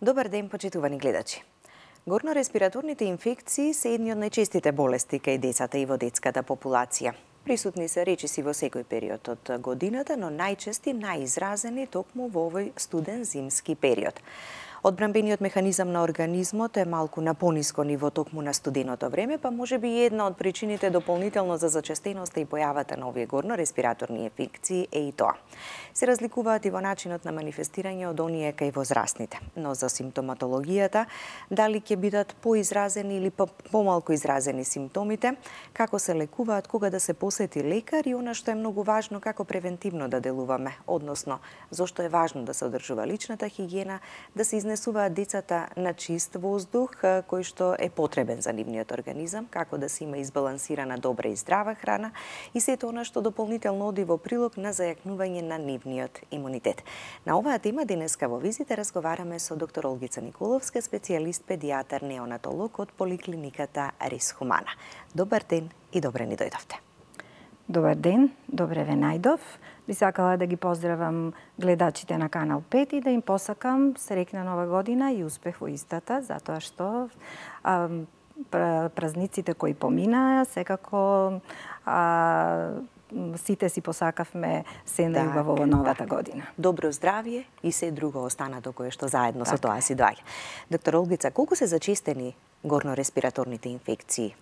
Добар ден, почитувани гледачи. Горно-респираторните инфекции се едни од најчестите болести кај децата и во детската популација. Присутни се речиси во секој период од годината, но најчести, најизразени токму во овој студен зимски период. Одбранбениот механизам на организмот е малку на пониско ниво токму на студеното време, па може би една од причините дополнително за зачестеноста и појавата на овие горно-респираторни инфекции е и тоа. Се разликуваат и во начинот на манифестирање од оние кај возрастните, но за симптоматологијата, дали ќе бидат поизразени или помалку изразени симптомите, како се лекуваат, кога да се посети лекар и она што е многу важно, како превентивно да делуваме, односно зошто е важно да се одржува личната хигиена, да се изнесуваат децата на чист воздух кој што е потребен за нивниот организам, како да се има избалансирана добра и здрава храна и сето она што дополнително оди во прилог на зајакнување на нивниот имунитет. На оваа тема денеска во визита разговараме со доктор Олгица Николовска, специјалист педијатар неонатолог од поликлиниката Рис Хумана. Добар ден и добре ни дојдовте. Добар ден, добре ве најдов. Би сакала да ги поздравам гледачите на Канал 5 и да им посакам среќна нова година и успех во истата, затоа што празниците кои поминаа, секако сите си посакавме се најубаво во новата година. Добро здравје и се друго останато кое што заедно со тоа си доаѓа. Доктор Олгица, колку се зачестени горно-респираторните инфекции?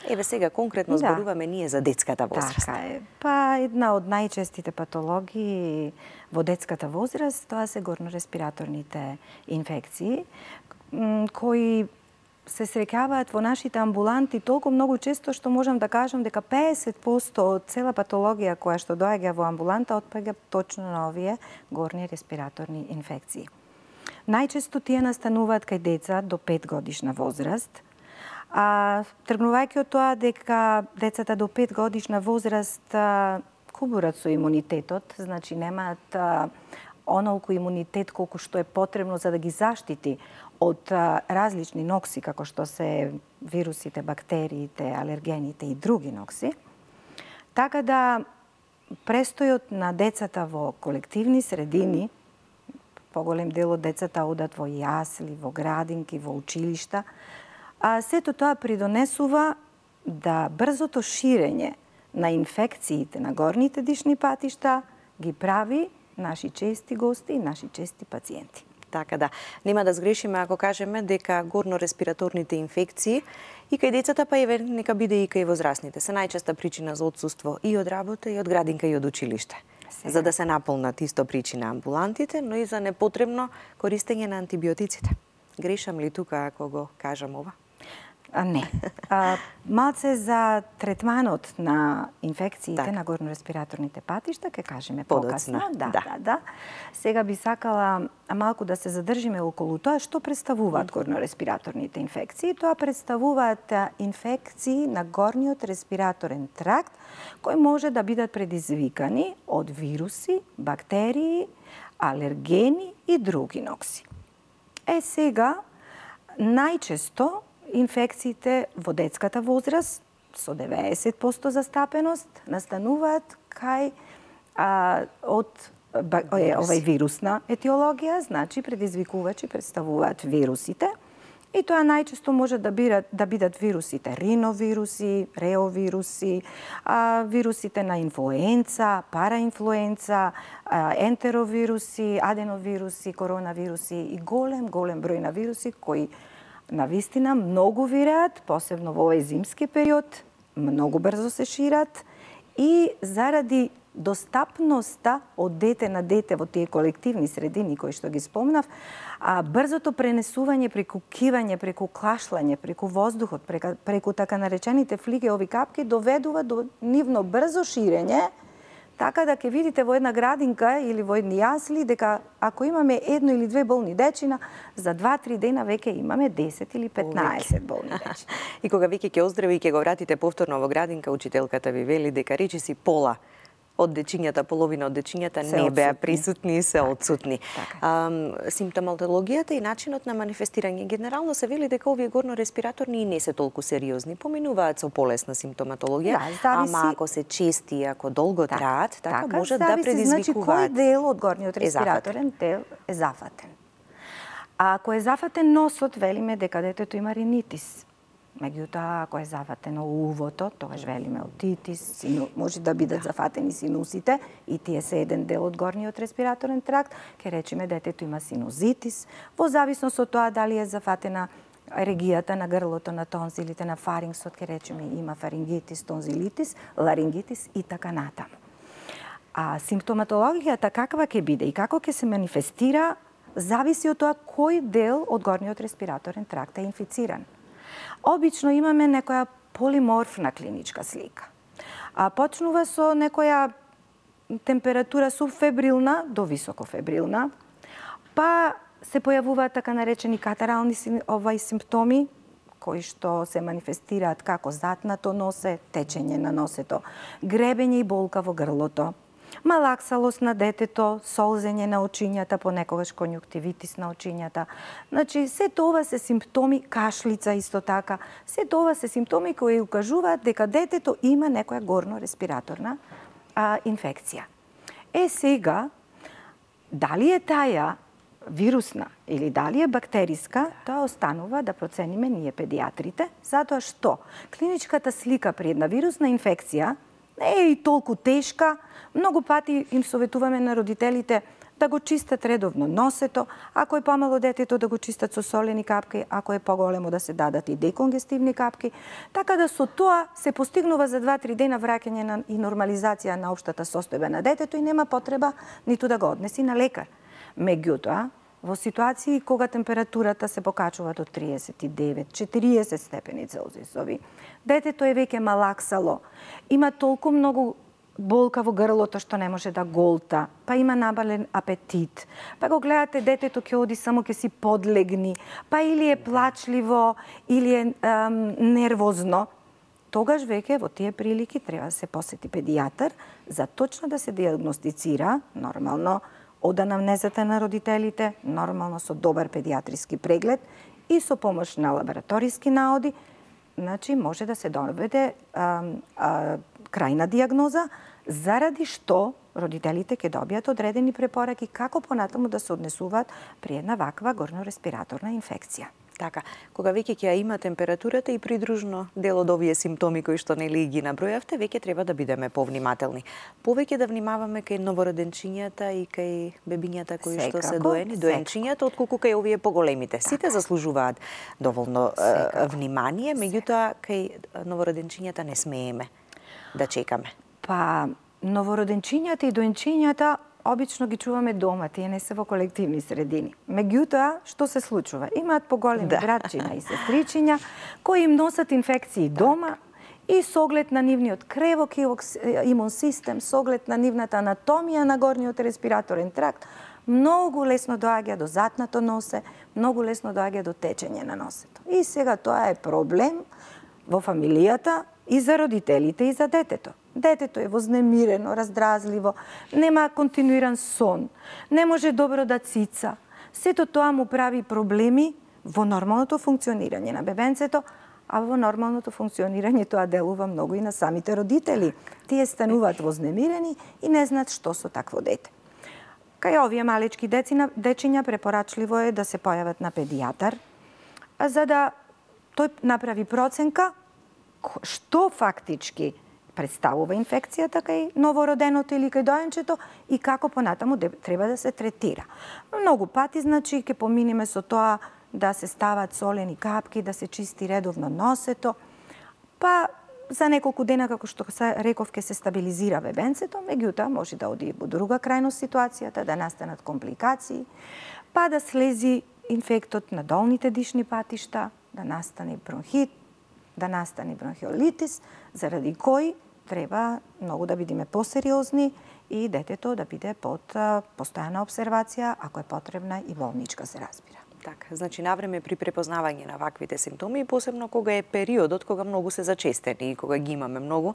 Еве сега конкретно зборуваме ние за детската возраст. Така е. Па една од најчестите патологии во детската возраст, тоа се горно-респираторните инфекции, кои се среќаваат во нашите амбуланти толку многу често што можам да кажам дека 50% од цела патологија која што доаѓа во амбуланта отпаѓа точно на овие горни респираторни инфекции. Најчесто тие настануваат кај деца до 5 годишна возраст, тргнувајќи од тоа дека децата до 5 годишна возраст кубурат со имунитетот, значи немаат онолку имунитет колку што е потребно за да ги заштити од различни нокси, како што се вирусите, бактериите, алергените и други нокси. Така да престојот на децата во колективни средини, поголем дел од децата одат во јасли, во градинки, во училишта, сето тоа придонесува да брзото ширење на инфекциите на горните дишни патишта ги прави наши чести гости и наши чести пациенти. Така да, нема да сгрешиме ако кажеме дека горно-респираторните инфекции и кај децата, па еве нека биде и кај возрастните, се најчеста причина за отсуство и од работа, и од градинка, и од училиште. За да се наполнат исто причина амбулантите, но и за непотребно користење на антибиотиците. Грешам ли тука ако го кажам ова? Не. Малце за третманот на инфекциите на горно-респираторните патишта, ке кажеме покасно. Да. Сега би сакала малку да се задржиме околу тоа што представуваат горно-респираторните инфекции. Тоа представуваат инфекции на горниот респираторен тракт, кои може да бидат предизвикани од вируси, бактерии, алергени и други нокси. Сега, најчесто инфекциите во детската возраст со 90% застапеност настануваат кај од овај вирусна етиологија, значи предизвикувачи представуваат вирусите. И тоа најчесто може да бидат вирусите риновируси, реовируси, вирусите на инфлуенца, параинфлуенца, ентеровируси, аденовируси, коронавируси и голем број на вируси кои навистина многу виреат, посебно во овој зимски период, многу брзо се шират и заради достапноста од дете на дете во тие колективни средини кои што ги спомнав, брзото пренесување преку кивање, преку кашлање, преку воздухот, преку така наречените флигеови капки доведува до нивно брзо ширење, така да ќе видите во една градинка или во едни јасли дека ако имаме едно или две болни дечина, за 2-3 дена веќе имаме 10 или 15 болни дечина. И кога веќе ќе оздрави и ќе го вратите повторно во градинка, учителката ви вели дека речиси пола од дечињата, половина од дечињата не беа присутни и се отсутни. Симптоматологијата и начинот на манифестирање генерално се вели дека овие горно-респираторни и не се толку сериозни, поминуваат со полесна симптоматологија, ама ако се чести и ако долго траат, така може да предизвикуваат. Значи кој дел од горниот респираторен дел е зафатен. А ако е зафатен носот, велиме дека детето има ринитис. Меѓутоа, ако е зафатено увото, тогаш велиме отитис, може да бидат зафатени синусите и тие се еден дел од горниот респираторен тракт, ке речеме детето има синузитис, во зависност од тоа дали е зафатена регијата на грлото, на тонзилите, на фарингсот, ке речеме има фарингитис, тонзилитис, ларингитис и така натаму. А симптоматологијата каква ќе биде и како ќе се манифестира, зависи од тоа кој дел од горниот респираторен тракт е инфициран. Обично имаме некоја полиморфна клиничка слика. Почнува со некоја температура субфебрилна до високофебрилна, па се појавуваат така наречени катарални симптоми, кои што се манифестираат како затнато носе, течење на носето, гребење и болка во грлото, малаксалост на детето, солзење на очињата, понекогаш конјуктивитис на очињата. Значи, се тоа се симптоми, кашлица исто така, се тоа се симптоми кои укажуваат дека детето има некоја горно-респираторна инфекција. Сега, дали е таја вирусна или дали е бактериска, тоа останува да процениме ние педиатрите, затоа што клиничката слика при една вирусна инфекција не е и толку тешка. Многу пати им советуваме на родителите да го чистат редовно носето, ако е помало детето да го чистат со солени капки, ако е поголемо да се дадат и деконгестивни капки, така да со тоа се постигнува за 2-3 дена враќање и нормализација на општата состојба на детето и нема потреба ниту да го однеси на лекар. Меѓутоа, во ситуации кога температурата се покачува до 39-40 степени Целзиусови, детето е веќе малаксало, има толку многу болка во грлото што не може да голта, па има набален апетит, па го гледате детето ќе оди само ќе си подлегни, па или е плачливо, или е нервозно, тогаш веќе во тие прилики треба да се посети педијатар за точно да се диагностицира, нормално, од анамнезата на родителите, нормално со добар педиатриски преглед и со помош на лабораториски наоди, значи може да се доведе крајна диагноза, заради што родителите ќе добијат одредени препораки како понатаму да се однесуваат при една ваква горно-респираторна инфекција. Така, кога веќе ќе има температурата и придружно дел од овие симптоми кои што нели ги набројавте, веќе треба да бидеме повнимателни. Повеќе да внимаваме кај новороденчињата и кај бебињата кои што се доени, доенчињата, отколку кај овие поголемите. Сите заслужуваат доволно внимание, меѓутоа кај новороденчињата не смееме да чекаме. Па, новороденчињата и доенчињата обично ги чуваме дома, тие не се во колективни средини. Меѓутоа, што се случува? Имаат поголеми братчиња и сестричиња кои им носат инфекции дома и со оглед на нивниот кревок имун систем, со оглед на нивната анатомија на горниот респираторен тракт, многу лесно доаѓа до затнато носе, многу лесно доаѓа до течење на носето. И сега тоа е проблем во фамилијата и за родителите и за детето. Детето е вознемирено, раздразливо, нема континуиран сон, не може добро да цица. Сето тоа му прави проблеми во нормалното функционирање на бебенцето, а во нормалното функционирање тоа делува многу и на самите родители. Тие стануваат вознемирени и не знаат што со такво дете. Кај овие малечки дечиња препорачливо е да се појават на педијатар, за да тој направи проценка што фактички представува инфекцијата кај новороденото или кај доенчето и како понатаму треба да се третира. Многу пати, значи, ќе поминеме со тоа да се стават солени капки, да се чисти редовно носето, па за неколку дена, како што реков, ќе се стабилизира бебенцето, меѓутоа може да оди во друга крајност ситуацијата, да настанат компликации, па да слези инфектот на долните дишни патишта, да настане бронхит, да настане бронхиолитис, заради кој треба многу да бидеме посериозни и детето да биде под постојана обсервација, ако е потребна и болничка, се разбира. Така, значи навреме при препознавање на ваквите симптоми и посебно кога е периодот кога многу се зачестени и кога ги имаме многу,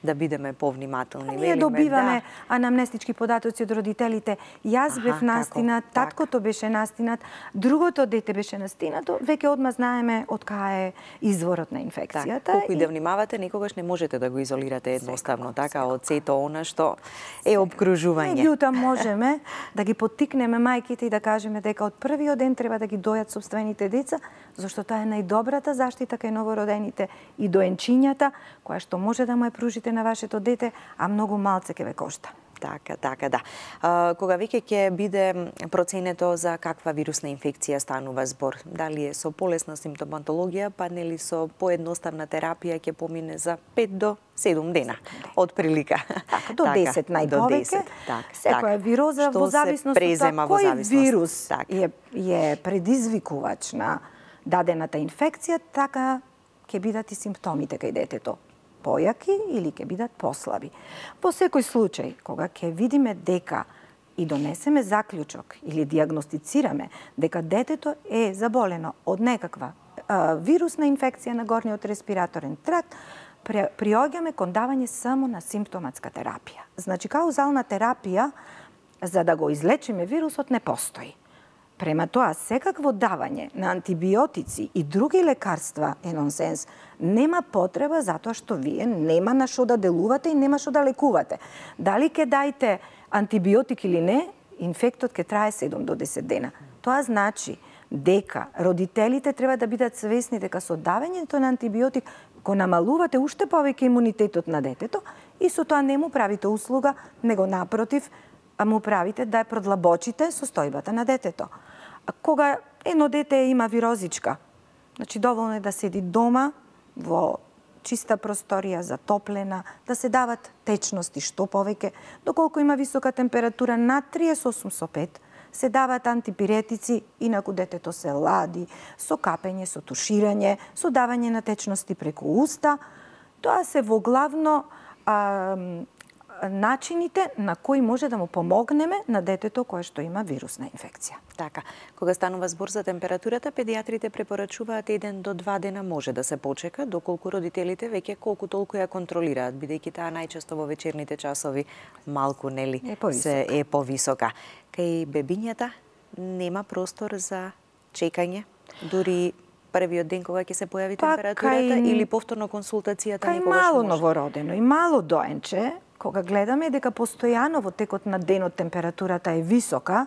да бидеме повнимателни. Ние добиваме анамнестички податоци од родителите. Јас бев настинат, таткото беше настинат, другото дете беше настинато, веќе одма знаеме од кај е изворот на инфекцијата. Колку и да внимавате, никогаш не можете да го изолирате едноставно, така, од сето она што е обкружување. Меѓутоа можеме да ги поттикнеме мајките и да кажеме дека од првиот ден треба да ги ги дојат сопствените деца, зашто тоа е најдобрата заштита кај новородените и доенчињата, која што може да му ја пружите на вашето дете, а многу малце ќе ве кошта. Така, да. Кога веќе ќе биде проценето за каква вирусна инфекција станува збор? Дали е со полесна симптоматологија, па нели со поедноставна терапија ќе помине за 5 до 7 дена, од прилика. Така, до 10 најповеќе. Секоја вироза во зависност од тоа кој вирус е предизвикувач на дадената инфекција, така ќе бидат и симптомите кај детето. Појаки или ќе бидат послаби. Во секој случај, кога ќе видиме дека и донесеме заклучок или диагностицираме дека детето е заболено од некаква вирусна инфекција на горниот респираторен тракт, приоѓаме кон давање само на симптоматска терапија. Значи, каузална терапија, за да го излечиме вирусот, не постои. Према тоа, секакво давање на антибиотици и други лекарства е нонсенс. Нема потреба затоа што вие нема на што да делувате и нема што да лекувате. Дали ќе дајте антибиотик или не, инфектот ќе трае 7 до 10 дена. Тоа значи дека родителите треба да бидат свесни дека со давањето на антибиотик го намалувате уште повеќе имунитетот на детето и со тоа не му правите услуга, него напротив, му правите да ја продлабочите состојбата на детето. Кога едно дете има вирозичка, значи доволно е да седи дома во чиста просторија, затоплена, да се дават течности што повеќе, доколку има висока температура над 38,5, се дават антипиретици, инаку детето се лади, со капење, со туширање, со давање на течности преку уста. Тоа се во главно начините на кои може да му помогнеме на детето кое што има вирусна инфекција. Така, кога станува збор за температурата, педиатрите препорачуваат 1 до 2 дена може да се почека, доколку родителите веќе колку толку ја контролираат, бидејќи таа најчесто во вечерните часови малку нели е повисока. Кај бебињата нема простор за чекање, дури првиот ден кога ќе се појави температурата или повторно консултацијата некогаш може? Кај мало новородено и мало доенче, кога гледаме дека постојано во текот на денот температурата е висока,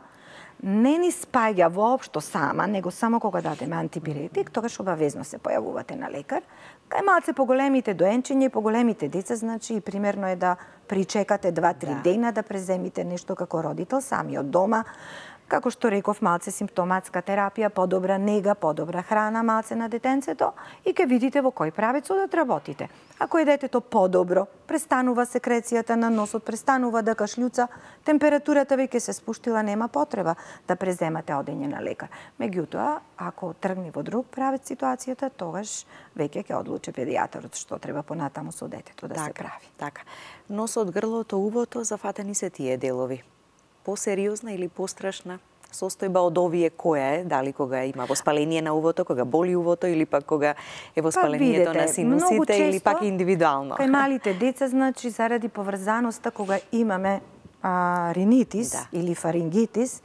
не ни спаѓа воопшто сама, него само кога дадеме антипиретик, тогаш обавезно се појавувате на лекар. Кај малце поголемите доенчиња и поголемите деца, значи примерно е да причекате 2-3 дена да преземите нешто како родител сами од дома. Како што реков, малце симптоматска терапија, подобра нега, подобра храна малце на детенцето и ќе видите во кој правец да работите. Ако е детето подобро, престанува секрецијата на носот, престанува да кашлјуца, температурата веќе се спуштила, нема потреба да преземате одење на лекар. Меѓутоа, ако тргне во друг правец ситуацијата, тогаш веќе ќе одлучи педијатарот што треба понатаму со детето да се прави. Така. Носот, грлото, увото, зафатени се тие делови. Посериозна или пострашна состојба од овие која е? Дали кога има воспаление на увото, кога боли увото или пак кога е воспалението на синусите или пак индивидуално? Кај малите деца, значи, заради поврзаноста кога имаме ринитис или фарингитис,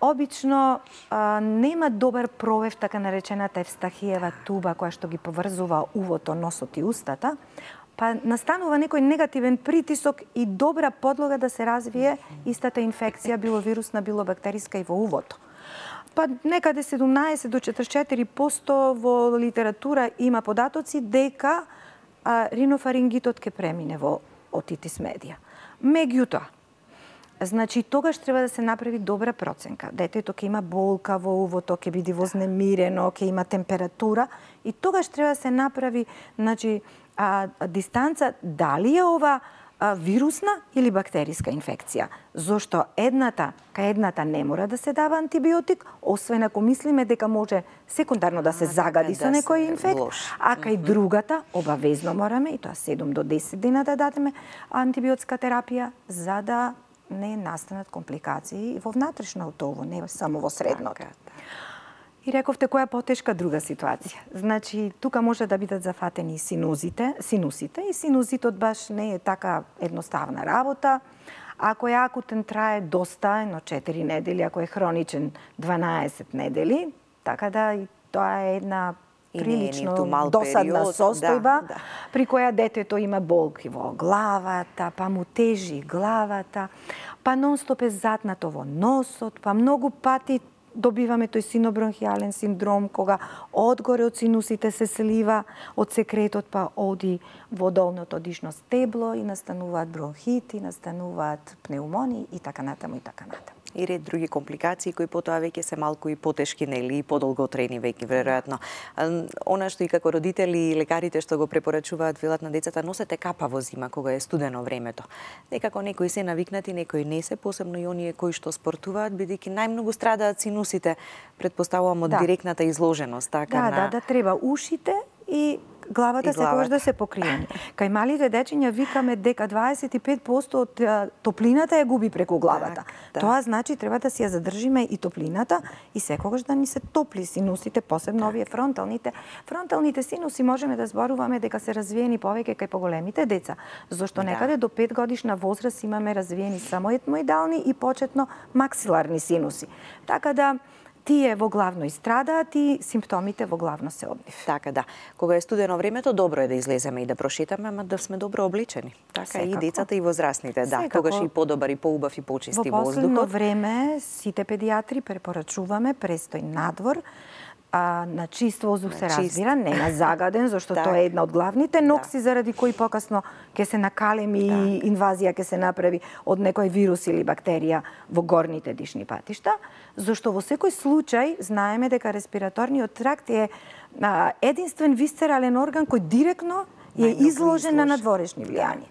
обично нема добар провев, така наречената евстахиева туба, која што ги поврзува увото, носот и устата, па настанува некој негативен притисок и добра подлога да се развие истата инфекција, било вирусна, било бактериска и во увото. Па некаде 17 до 44% во литература има податоци дека ринофарингитот ќе премине во отитис медија. Меѓутоа, значи тогаш треба да се направи добра проценка. Детето ќе има болка во увото, ќе биде вознемирено, ќе има температура и тогаш треба да се направи, значи, дистанца дали е ова вирусна или бактериска инфекција. Зошто кај едната не мора да се дава антибиотик, освен ако мислиме дека може секундарно да се загади со некој инфект, а кај другата обавезно мораме, и тоа 7 до 10 дена да дадеме антибиотска терапија, за да не настанат компликации во внатрешното ово, не само во средното. И рековте која потешка друга ситуација. Значи, тука може да бидат зафатени синусите и синузитот баш не е така едноставна работа. Ако е акутен, трае доста, едно 4 недели, ако е хроничен 12 недели, така да и тоа е една прилично досадна состојба, при која детето има болки во главата, па му тежи главата, па нонстоп е затнато во носот, па многу пати добиваме тој синобронхијален синдром, кога одгоре од синусите се слива од секретот, па оди во долното дишно стебло и настануваат бронхити, настануваат пнеумонии и така натаму и така натаму. И ред други компликации кои потоа веќе се малку и потешки, нели, и подолготрени веќе веројатно. Она што и како родители и лекарите што го препорачуваат, велат на децата, носете капа во зима кога е студено времето. Некако некои се навикнати, некои не се, посебно и оние кои што спортуваат, бидејќи најмногу страдаат синусите, предпоставувам од директната изложеност, така Да, треба ушите и главата секогаш да се покриени. Кај малите дечиња викаме дека 25% од топлината ја губи преку главата. Тоа значи треба да си ја задржиме и топлината и секогаш да ни се топли синусите, посебно овие фронталните. Фронталните синуси можеме да зборуваме дека се развиени повеќе кај поголемите деца, зашто некаде до 5 годишна возраст имаме развиени само етмоидални и почетно максиларни синуси. Така да тие во главно и страдаат и симптомите во главно се од нив. Така да. Кога е студено времето, добро е да излеземе и да прошетаме, ама да сме добро облечени. Така и децата и возрастните, тогаш и подобар и поубав и почисти воздухот. Во последно време сите педиатри препорачуваме престој надвор, на чист воздух се разбира, не на загаден, зашто тоа е една од главните нокси заради кои покасно ќе се накалеми и инвазија ќе се направи од некој вирус или бактерија во горните дишни патишта, зашто во секој случај знаеме дека респираторниот тракт е единствен висцерален орган кој директно е изложен на надворешни влијанија.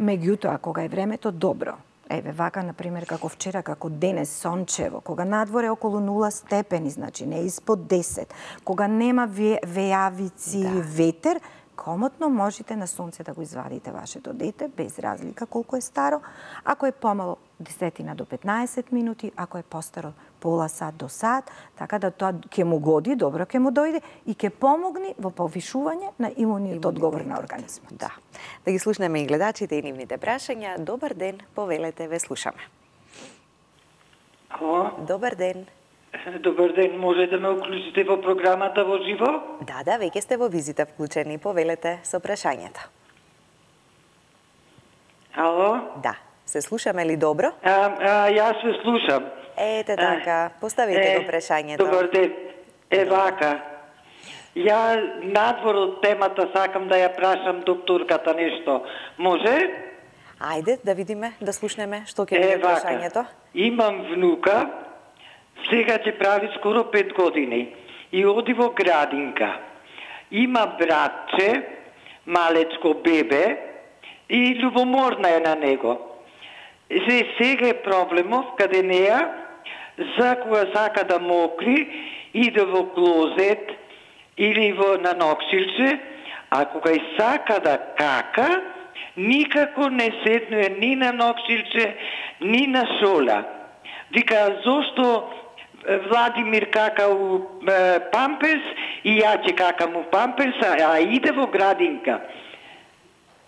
Меѓутоа, кога е времето добро, еве вака, например, како вчера, како денес, сончево, кога надвор е околу 0 степени, значи не испод 10, кога нема вејавици или ветер, комотно можете на сонце да го извадите вашето дете, без разлика колку е старо. Ако е помало 10 до 15 минути, ако е постаро пола сат до сат, така да тоа ќе му годи, добро ќе му дојде и ќе помогне во повишување на имуниот одговор на организмот. Да ги слушнеме и гледачите и нивните прашања. Добар ден, повелете, ве слушаме. Ало? Добар ден. Добар ден, може да ме уклучите во програмата во живо? Да, веќе сте во визита вклучени, повелете со прашањето. Ало? Да, се слушаме ли добро? Јас се слушам. Ете така, поставете го прашањето. Добар ден. Вака. Ја надвор од темата сакам да ја прашам докторката нешто. Може? Ајде, да видиме, да слушнеме што ќе биде прашањето. Имам внука, сега ќе прави скоро 5 години и оди во градинка. Има братче, малечко бебе и љубоморна е на него. Сега е проблемов каде неја, за кога сака да мокри, иде во клозет или на ноксилче, а кога и сака да кака, никако не седнуе ни на ноксилче, ни на шола. Вика, зошто Владимир кака у памперс и ја ќе какам у памперс, а иде во градинка.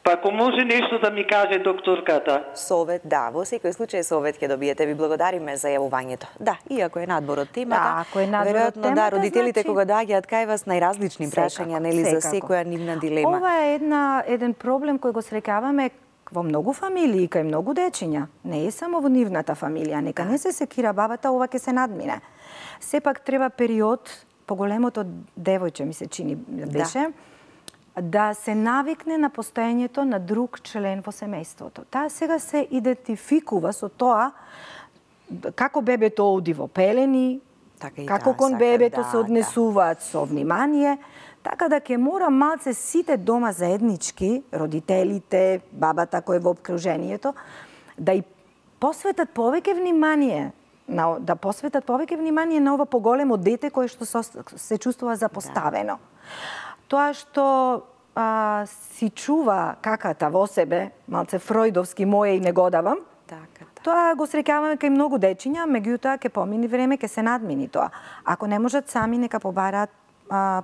Па ако може нешто да ми каже докторката. Совет, да, во секој случај совет ќе добиете. Ви благодариме за јавувањето. Да, иако е надбор од темата, веројатно да, родителите кога доаѓаат кај вас најразлични прашања, нели, за секоја нивна дилема. Ова е еден проблем кој го срекаваме во многу фамилии, кај многу дечиња. Не е само во нивната фамилија, нека не се секира бабата, ова ќе се надмине. Сепак треба период, поголемото девојче ми се чини беше, да се навикне на постоењето на друг член во семејството. Таа сега се идентификува со тоа како бебето оди во пелени, како кон бебето се однесуваат со внимание, така да ќе мора малце сите дома заеднички, родителите, бабата кој е во обкружението, да и посветат повеќе внимание на ова поголемо дете кое што се чувствува запоставено. Тоа што си чува каката во себе, малце фројдовски моје и не го давам, тоа го среќаваме кај многу дечиња, меѓутоа ќе помини време, ќе се надмини тоа. Ако не можат сами, нека побараат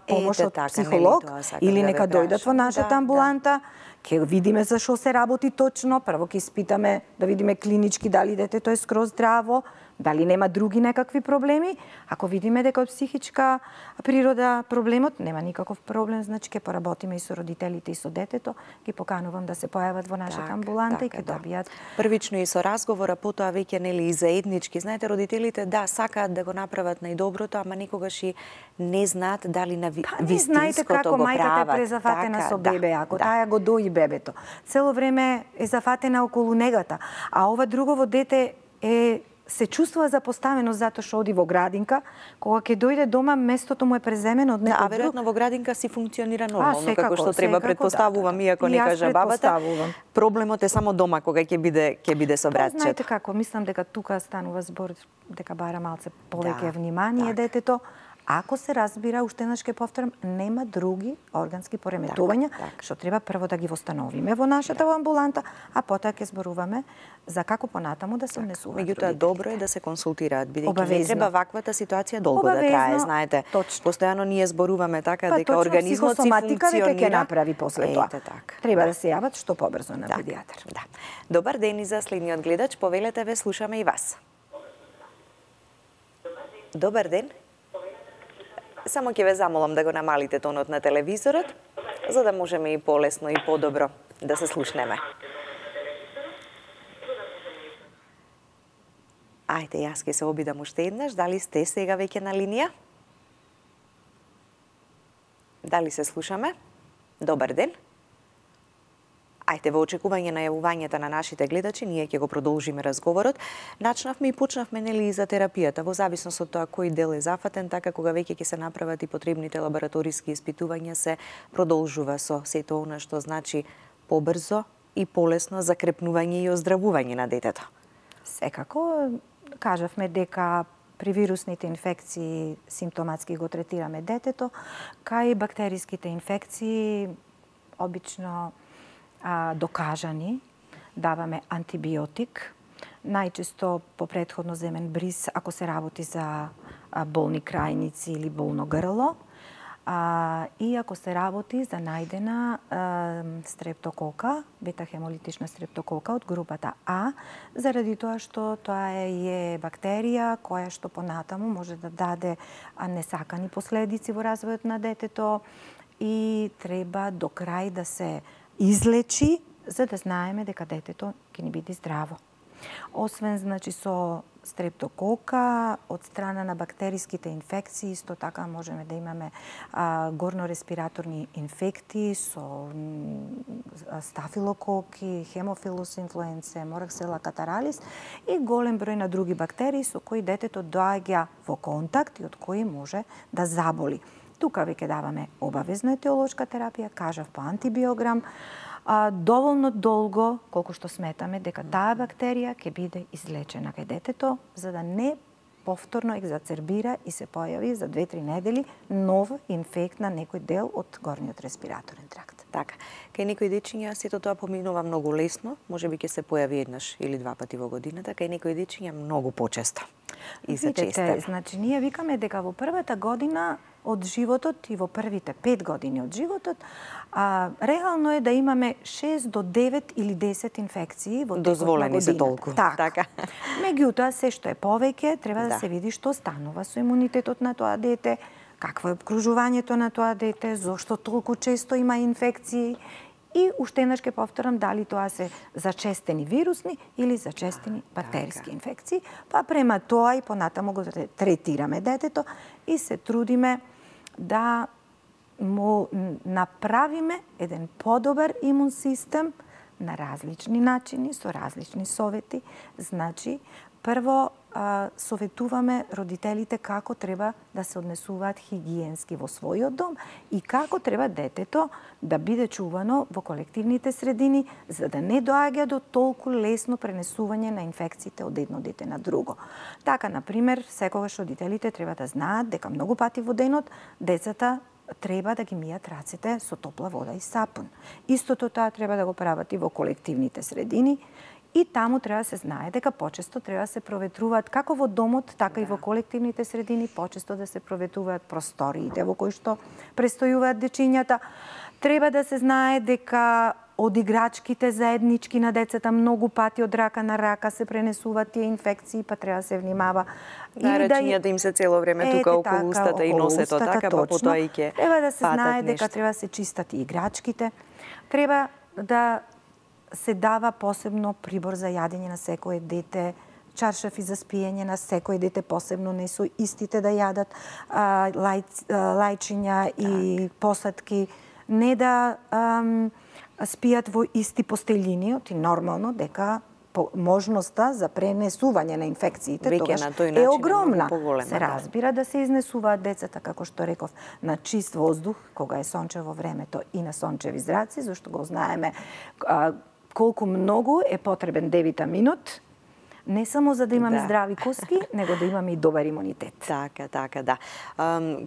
помош од психолог или нека дојдат во нашата амбуланта, ќе видиме за што се работи точно, прво ќе испитаме да видиме клинички дали детето е скроз здраво, Дали нема други некакви проблеми? Ако видиме дека од психичка природа проблемот, нема никаков проблем, значи ќе поработиме и со родителите и со детето, ги поканувам да се појават во нашата амбуланта и ќе добијат првично и со разговора, потоа веќе нели и заеднички. Знаете, родителите сакаат да го направат најдоброто, ама никогаш и не знаат дали на вистинското го прават. Знаете како мајката е презафатена со бебе, ако таа го дои бебето. Цело време е зафатена околу негата, а ова другово дете се чувствува запоставено затоа што оди во градинка, кога ќе дојде дома местото му е преземено од некој друг. А веројатно во градинка си функционира нормално, како што треба, предпоставувам, иако не кажа бабата. Проблемот е само дома кога ќе биде со братчето. Знаете како, мислам дека тука станува збор дека бара малце повеќе внимание детето. Ако се разбира, уште еднаш ќе повторам, нема други органски пореметувања, што треба прво да ги востановиме во нашата амбуланта, а потоа ќе зборуваме за како понатаму да се однесуваат. Меѓутоа, добро е да се консултираат, бидејќи не треба ваквата ситуација долго да трае, знаете. Постојано ние зборуваме така дека организмот си функционира. Ќе направи после тоа. Треба да се јават што побрзо на педијатар. Добар ден и за следниот гледач, повелете ве, слушаме и вас. Добар ден. Само ќе ве замолам да го намалите тонот на телевизорот, за да можеме и полесно и подобро да се слушнеме. Ајде, јас ќе се обидам уште еднаш. Дали сте сега веќе на линија? Дали се слушаме? Добар ден. Ајде, во очекување на јавувањата на нашите гледачи, ние ќе го продолжиме разговорот. Начнавме и почнавме нели и за терапијата, во зависност од тоа кој дел е зафатен, така кога веќе ќе се направат и потребните лабораториски испитувања, се продолжува со сето она што значи побрзо и полесно закрепнување и оздравување на детето. Секако, кажавме дека при вирусните инфекции симптоматски го третираме детето, кај бактериските инфекции обично докажани, даваме антибиотик, најчесто по претходно земен бриз ако се работи за болни крајници или болно грло, и ако се работи за најдена стрептокока, бета-хемолитична стрептокока од групата А, заради тоа што тоа е бактерија која што понатаму може да даде несакани последици во развојот на детето и треба до крај да се излечи, за да знаеме дека детето ќе ни биде здраво. Освен, значи, со стрептокока, од страна на бактериските инфекции, исто така можеме да имаме горнореспираторни инфекти со стафилококи, хемофилус инфлуенце, мораксела катаралис и голем број на други бактерии со кои детето доаѓа во контакт и од кои може да заболи. Тука веќе даваме обавезна етиолошка терапија, кажав по антибиограм, доволно долго, колку што сметаме дека таа бактерија ќе биде излечена кај детето, за да не повторно екзацербира и се појави за 2-3 недели нов инфект на некој дел од горниот респираторен тракт. Така, кај некои дечиња сето тоа поминува многу лесно, можеби ќе се појави еднаш или два пати во годината, кај некои дечиња многу почесто и зачестено. Значи, ние викаме дека во првата година од животот и во првите 5 години од животот, реално е да имаме 6 до 9 или 10 инфекции во текот на годината. Дозволени се толку. Така. Меѓутоа, се што е повеќе, треба да се види што станува со имунитетот на тоа дете, какво е обкружувањето на тоа дете, зошто толку често има инфекции и уште еднаш ќе повторам дали тоа се зачестени вирусни или зачестени бактериски инфекции, па према тоа и понатаму го третираме детето и се трудиме да му направиме еден подобар имун систем на различни начини, со различни совети. Значи, прво советуваме родителите како треба да се однесуваат хигиенски во својот дом и како треба детето да биде чувано во колективните средини, за да не доаѓа до толку лесно пренесување на инфекциите од едно дете на друго. Така, например, секогаш родителите треба да знаат дека многу пати во денот децата треба да ги мијат рацете со топла вода и сапун. Истото тоа треба да го прават и во колективните средини. И таму треба да се знае дека почесто треба да се проветруваат како во домот, така и во колективните средини, почесто да се проветруваат просториите во кои што престојуваат дечињата. Треба да се знае дека од играчките заеднички на децата многу пати од рака на рака се пренесуваат тие инфекции, па треба да се внимава. Да, рачињата им се цело време тука околу устата и носето, така, па потоа и ќе треба да се знае дека треба да се чистат и играчките. Треба да се дава посебно прибор за јадење на секое дете, чаршафи за спиење на секој дете, посебно не со истите да јадат лајчиња и посадки, не да спијат во исти постелини, оти нормално дека можноста за пренесување на инфекциите тогаш е огромна. Се разбира да се изнесуваат децата, како што реков, на чист воздух, кога е сончево времето и на сончеви зраци, зашто го знаеме колку многу е потребен D-витаминот, не само за да имаме здрави коски, него да имаме и добар имунитет. Така, да.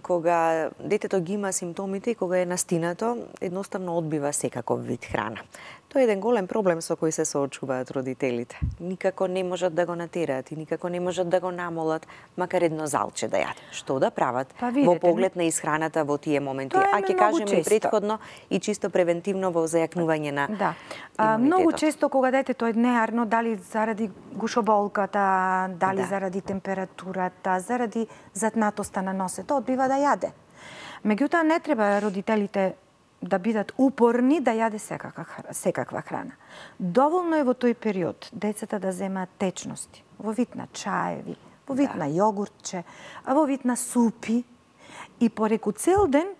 Кога детето ги има симптомите и кога е настинато, едноставно одбива секаков вид храна. Тоа е еден голем проблем со кој се соочуваат родителите. Никако не можат да го натераат и никако не можат да го намолат, макар едно залче да јаде. Што да прават во поглед на исхраната во тие моменти? А ќе кажеме и претходно и чисто превентивно во зајакнување на имунитетот. Многу често кога детето е неарно, дали заради гушоболката, дали заради температурата, заради затнатоста на носето, одбива да јаде. Меѓутоа не треба родителите да бидат упорни да јаде секаква храна. Доволно е во тој период децата да земаат течности во вид на чаеви, во вид на јогуртче, во вид на супи и пореку цел ден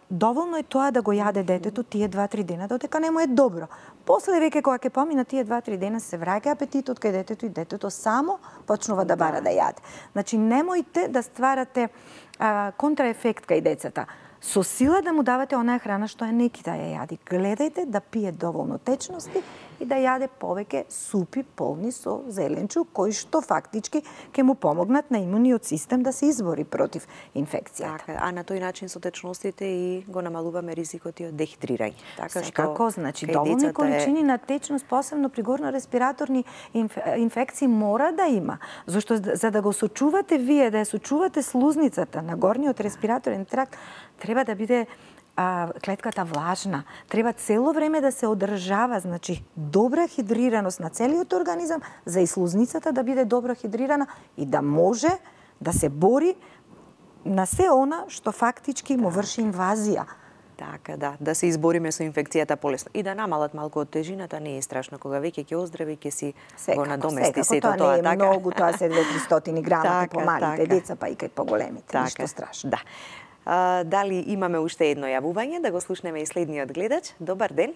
доволно е тоа да го јаде детето тие 2-3 дена додека не му е добро. После веќе кога ќе помина тие 2-3 дена се враќа апетитот кај детето и детето само почнува да бара да јаде. Значи немојте да стварате контраефект кај децата. Со сила да му давате онаа храна што е неки да ја јади. Гледајте да пие доволно течности и да јаде повеќе супи полни со зеленчук, кои што фактички ќе му помогнат на имуниот систем да се избори против инфекцијата. Така, а на тој начин со течностите и го намалуваме ризикот и од дехидрирање. Така што значи доволни количини на течност, посебно при горно-респираторни инфекции мора да има. Зашто за да го сочувате вие, да ја сочувате слузницата на горниот респираторен тракт, треба да биде клетката влажна. Треба цело време да се одржава, значи добра хидрираност на целиот организам, за и слузницата да биде добро хидрирана и да може да се бори на се она што фактички му врши инвазија. Така, да се избориме со инфекцијата полесно. И да намалат малку од тежината, не е страшно. Кога веќе ќе оздрави, ќе си го надомести сето тоа. Тоа не е многу, тоа се 200-300 грама по малите деца, па и кај поголемите. Ништо страшно. Да. Дали имаме уште едно јавување, да го слушнеме и следниот гледач. Добар ден.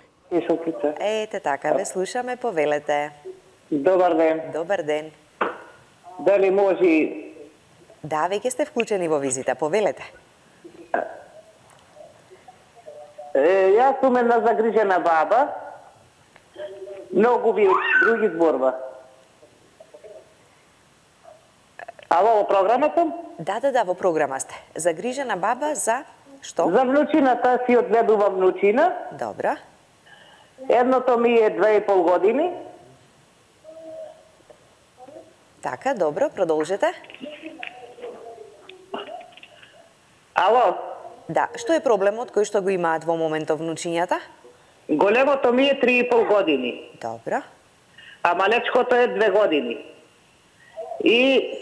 Ете така, ве слушаме, повелете. Добар ден. Добар ден. Дали може... Да, веќе сте вклучени во визита, повелете. Јас сум една загрижена баба, многу ви други зборба. Ало, во програма сум? Да, во програма сте. Загрижена баба за што? За внучината си одгледувам внучина. Добра. Едното ми е 2,5 години. Така, добро, продолжете. Ало? Да, што е проблемот кој што го имаат во моментов внучињата? Големото ми е 3,5 години. Добро. А малечкото е 2 години. И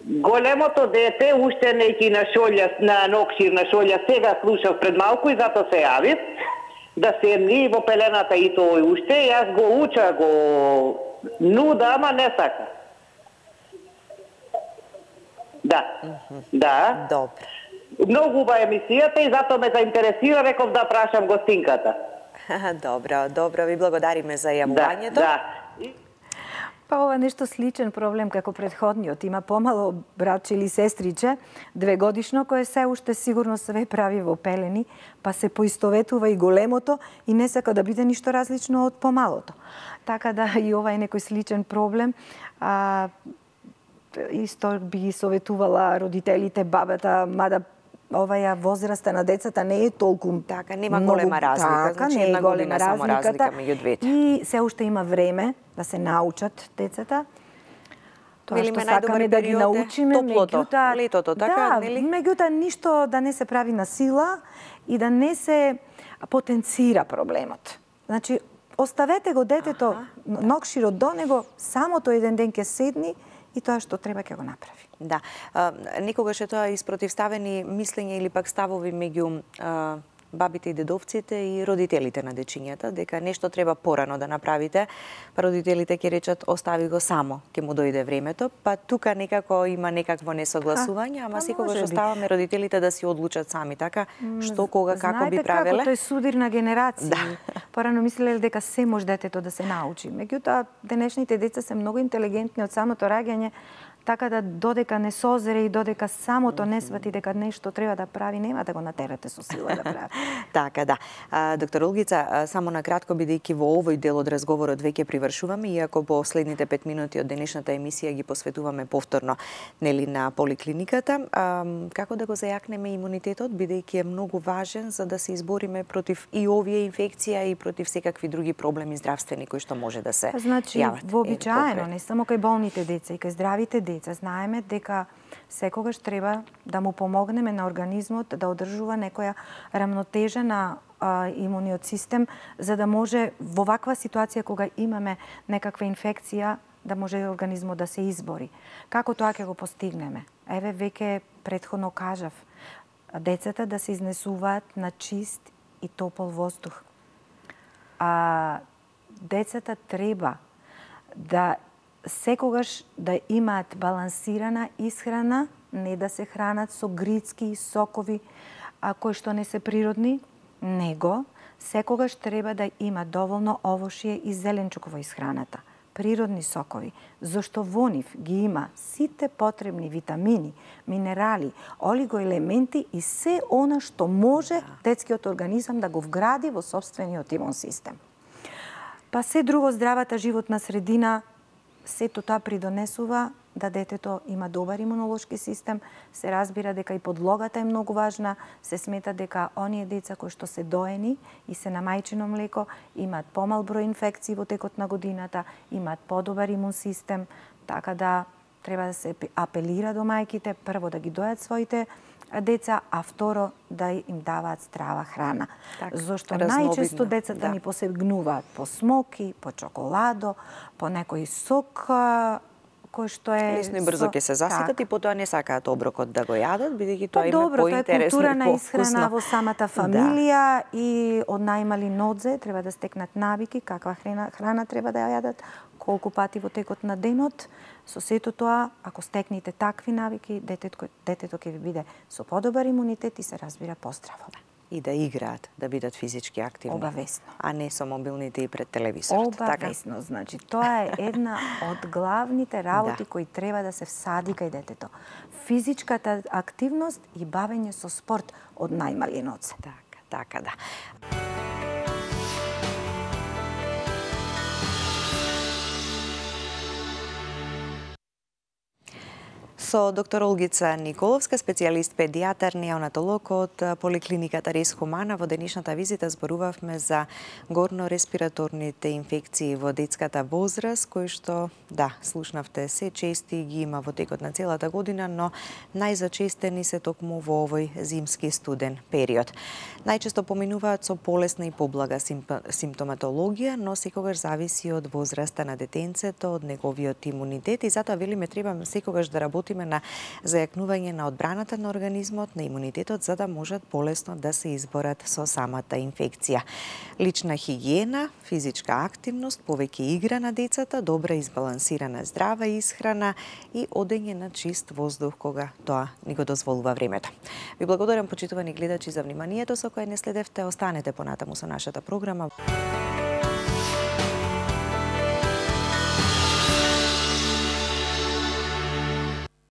големото дете уште неки на шолја, на нокшир на шолја, сега слушав пред малку и затоа се јавив да седни во пелената и тој уште. Јас го уча, го нуда, ама не сака. Да. Добро. Многу убава емисијата и затоа ме заинтересира, реков да прашам гостинката. Добро, ви благодариме за јавувањето. Да. Па ова нешто сличен проблем како предходниот. Има помало братче или сестриче, 2 годишно, кое се уште сигурно све прави во пелени, па се поистоветува и големото и не сака да биде ништо различно од помалото. Така да и ова е некој сличен проблем. Исто би ги советувала родителите, бабата, мада оваја возраста на децата не е толку така, нема голема разлика, така, значи една година само разлика меѓу двете. И се уште има време да се научат децата. Тоа Велиме, што сакаме да ги научиме, летото, така, да, нели? Меѓутоа ништо да не се прави на сила и да не се потенцира проблемот. Значи, оставете го детето нокширо до него, самото еден ден ќе седни и тоа што треба ќе го направи. Да. Некогаш е тоа испротивставени мислење или пак ставови меѓу бабите и дедовците и родителите на дечињата, дека нешто треба порано да направите, па родителите ќе речат остави го само, ќе му дојде времето, па тука некако има некакво несогласување, ама секогаш оставаме родителите да си одлучат сами, така, што, кога, како би правеле. Знаете како, тој судир на генерации. Порано мислеле дека се може детето да се научи. Меѓутоа, денешните деца се многу интелигентни од самото раѓање, така да додека не созре и додека самото не свати дека нешто треба да прави, нема да го натерате со сила да прави. Така, да. Доктор Олгица, само на кратко, бидејќи во овој дел од разговорот веќе привршуваме, иако последните 5 минути од денешната емисија ги посветуваме повторно нели на поликлиниката, како да го зајакнеме имунитетот, бидејќи е многу важен за да се избориме против и овие инфекција и против секакви други проблеми здравствени кои што може да се јават. Вообичаено, не само кај болните деца, и кај здравите деца, знаеме дека секогаш треба да му помогнеме на организмот да одржува некоја рамнотежа на имуниот систем, за да може во ваква ситуација кога имаме некаква инфекција, да може организмот да се избори. Како тоа ќе го постигнеме? Еве, веќе претходно кажав, децата да се изнесуваат на чист и топол воздух. Децата треба да секогаш да имаат балансирана исхрана, не да се хранат со грицки и сокови кои што не се природни, него секогаш треба да има доволно овошје и зеленчук во исхраната, природни сокови, зашто во нив ги има сите потребни витамини, минерали, олигоелементи и се она што може детскиот организам да го вгради во сопствениот имун систем. Па се друго, здравата животна средина, сето тоа придонесува да детето има добар имунолошки систем, се разбира дека и подлогата е многу важна, се смета дека оние деца кои што се доени и се на мајчино млеко имаат помал број инфекции во текот на годината, имаат подобар имун систем, така да треба да се апелира до мајките, прво да ги дојат своите деца, а второ да им даваат здрава храна. Зошто најчесто децата ни посегнуваат по смоки, по чоколадо, по некој сок кој што е лесно и брзо ќе се заситат и потоа не сакаат оброкот да го јадат, бидејќи тоа им е поинтересно. Тоа е култура на исхрана во самата фамилија и од најмали нодзе треба да стекнат навики каква храна треба да ја јадат, колку пати во текот на денот. Со сето тоа, ако стекнете такви навики, детето ќе ви биде со подобар имунитет и се разбира поздраво. И да играат, да бидат физички активни. Обавесно. А не со мобилните и пред телевизорот. Обавесно. Така? Значи, тоа е една од главните работи кои треба да се всади кај детето. Физичката активност и бавење со спорт од најмали ноце. Така, да. Со доктор Олгица Николовска, специјалист педијатар, неонатолог од поликлиниката Рис Хумана, во денешната визита зборувавме за горно-респираторните инфекции во детската возраст, кои што, слушнавте, се чести ги има во текот на целата година, но најзачестени се токму во овој зимски студен период. Најчесто поминуваат со полесна и поблага симптоматологија, но секогаш зависи од возраста на детенцето, од неговиот имунитет и затоа велиме треба секогаш да работиме на зајакнување на одбраната на организмот, на имунитетот, за да можат полесно да се изборат со самата инфекција. Лична хигиена, физичка активност, повеќе игра на децата, добра избалансирана здрава исхрана и одење на чист воздух кога тоа ни го дозволува времето. Ви благодарам, почитувани гледачи, за вниманието со кое не следевте. Останете понатаму со нашата програма.